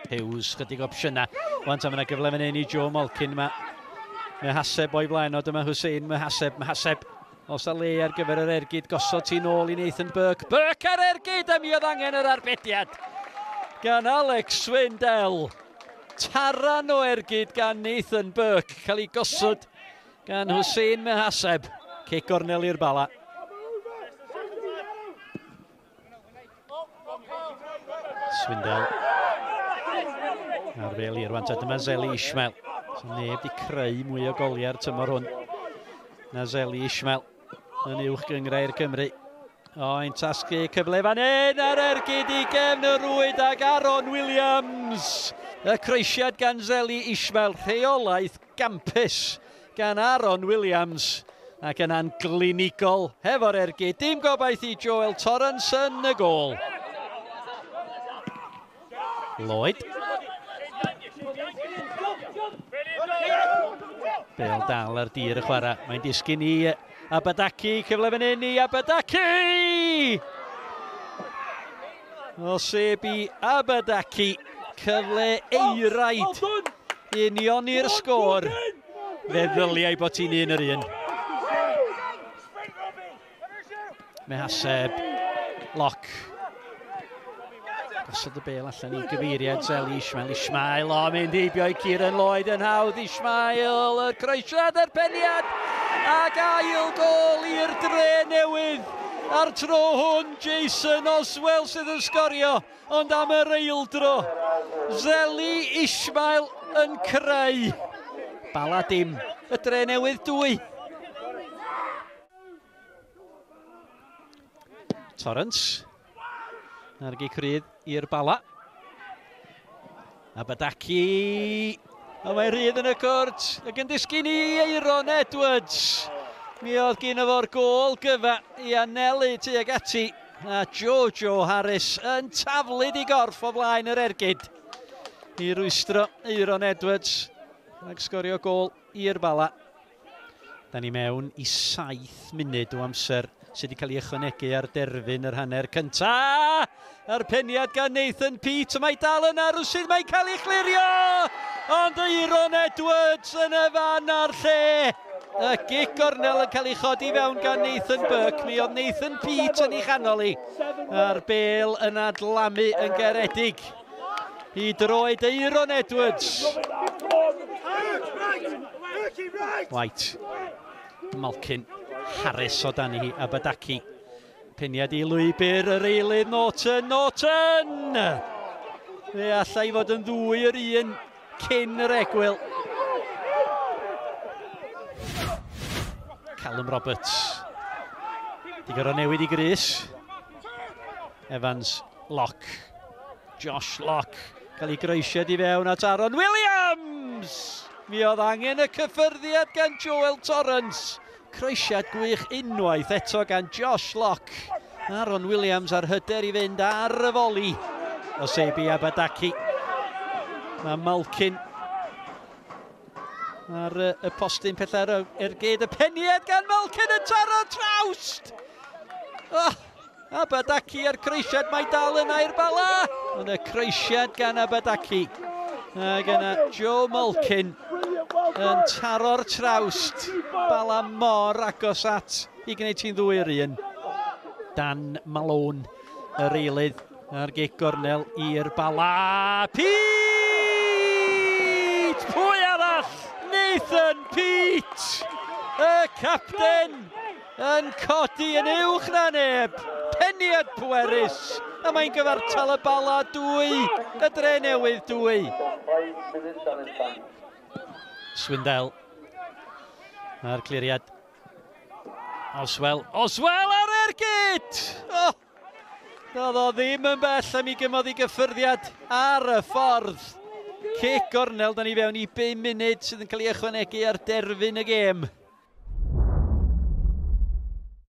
Hughes, chydig opsiynau. Wan ta, mae yna gyfle fan hyn i Joe Malkin. Mae Mehaseb o'i flaen o, dyma Hussein Mehaseb, Mehaseb. Os a le ar gyfer yr ergyd, gosod ti'n ôl i Nathan Burke. Burke ar ergyd, a mi oedd angen yr arbediad gan Alex Swindell. Taran o ergyd gan Nathan Burke, cael ei gosod gan Hussein Mehaseb. Cic gornel i'r Bala. Swindell. A'r fel i'r wan, dyma Zeli Ishmael. So neb di creu mwy o goliau'r tymor hwn na Zeli Ishmael yn uwch gynghrair Cymru. O, ein tasgu cyfle fan hyn ar ergyd i gefn y rwyd ag Aaron Williams. Y croesiad gan Zeli Ishmael, rheolaeth gampus gan Aaron Williams ac yna'n glinigol hefo'r ergyd. Dim gobaith i Joel Torrance yn y gôl. Lloyd. Bel dal ar dir y chwarae. Mae'n disgyn i Abadaki. Cyfle fan hyn i Abadaki! Osebi Abadaki. Cyfle eiraid. Unioni'r sgôr. Fe ddyliai bod ti'n un yr un. Mehaseb. Lock. Gosod y bel allan i gyfeiriad Zeli Ishmael. Ishmael, o, mynd heibio i Kieran Lloyd yn hawdd. Ishmael, y croesiad a'r peniad. Ac ail gol i'r Dre Newydd. A'r tro hwn, Jason Oswell sydd yn sgorio, ond am yr eildro. Zeli Ishmael yn creu. Bala dim, y Dre Newydd 2. Torrance. A'r gic rydd i'r Bala. Abadaki. A mae rhydd yn y cwrt. Ac yn disgyn i Eiron Edwards. Mi oedd gyno fo'r gôl gyfa i anelu tuag ati. A Jojo Harris yn taflu di gorff o flaen yr ergyd. I rwystro Eiron Edwards. Ac sgorio gôl i'r Bala. Da ni mewn i 7 munud o amser sydd wedi cael ei ychwanegu ar derfyn yr hanner cynta. A'r peniad gan Nathan Peate, mae dal yna rwsydd, mae'n cael ei chlirio! Ond Eiron Edwards yn y fan a'r lle. Y gic gornel yn cael ei chodi fewn gan Nathan Burke. Mi oedd Nathan Peate yn ei chanol i. A'r bel yn adlamu yn garedig i droed Eiron Edwards. White, Malkin, Harris o dan hi, Abadaki. Peniad i lwybr yr eilydd Norton, Norton! Fe allai fod yn ddwy yr un cyn yr egwyl. Callum Roberts. Di gorfod newid i grys. Evans, Locke. Josh Locke. Cael ei groesiad i fewn at Aaron Williams! Mi oedd angen y cyffyrddiad gan Joel Torrance. Croesiad gwych unwaith eto gan Josh Locke. Aaron Williams ar hyder i fynd ar y foli. Osebi Abadaki. Mae Malkin ar y postyn pellach ergyd. Y peniad gan Malkin yn taro trawst! Oh, Abadaki a'r croesiad, mae dal yna i'r Bala. Ond y croesiad gan Abadaki. Ac yna Joe Malkin yn taro'r trawst. Bala mor agos at i gwneud ti'n ddwy yr un. Dan Malone, yr eilydd a'r gic gornel i'r Bala. Pete! Pwy arall? Nathan Peate! Y capten yn codi yn uwch na neb. Peniad pwerus. A mae'n gyfartal y Bala 2, y Dre Newydd 2. Swindell. A'r cliriad. Oswell. Oswell ar ergyd! Oh! Doedd o ddim yn bell am i gymodd i gyffyrddiad ar y ffordd. Cic gornel, da ni fewn i 5 munud sydd yn cael ei ychwanegu ar derfyn y gêm.